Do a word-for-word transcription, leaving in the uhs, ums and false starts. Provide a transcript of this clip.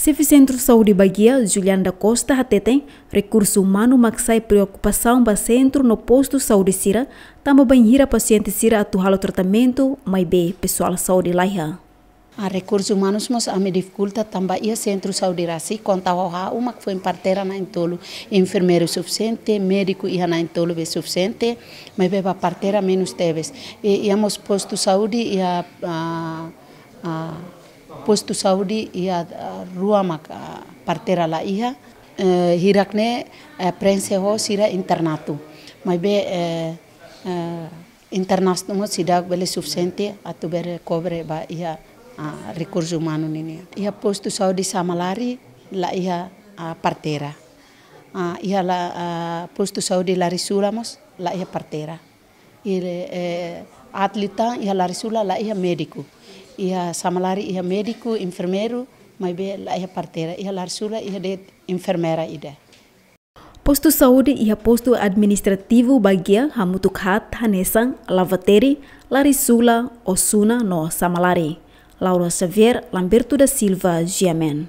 Xefe Sentru Saúde Baguia, Juliana da Costa, hateten rekursu umanu mak sai preokupasaun ba sentru no postu saúde sira, tanba bainhira pasiente sira atu halo tratamentu, maibé pesoál saúde laiha. A rekursu umanus mós ami difikulta tanba iha sentru saúde rasik, konta ho ha'u mak foin parteira na'in-tolu, enfermeiru sufisiente, médiku iha na'in-tolu be sufisiente, maibé ba parteira menus tebes. I, iha mós postu saúde iha, ah, ah, postu saúde iha, ah, rua mak, ah, parteira laiha, eh, hirak ne'e, eh, prenxe ho sira internatu. Maibé, eh, eh, internatu mós seidauk bele sufisiente atu bele kobre ba iha, ah, rekursu umanu nian. Iha postu saúde Samalari laiha, ah, parteira. Ah, iha la, ah, postu saúde Larisula mós laiha parteira. I, eh, atlitan iha Larisula laiha médiku. Iha Samalari iha médiku, enfermeiru, maibé laiha parteira. Iha Larisula iha de'it enfermeira ida. Postu saúde iha postu administrativu Baguia hamutuk haat hanesan Lavateri, Larisula, Osuna no Samalari. Laura Xavier, Lamberto da Silva, G M N.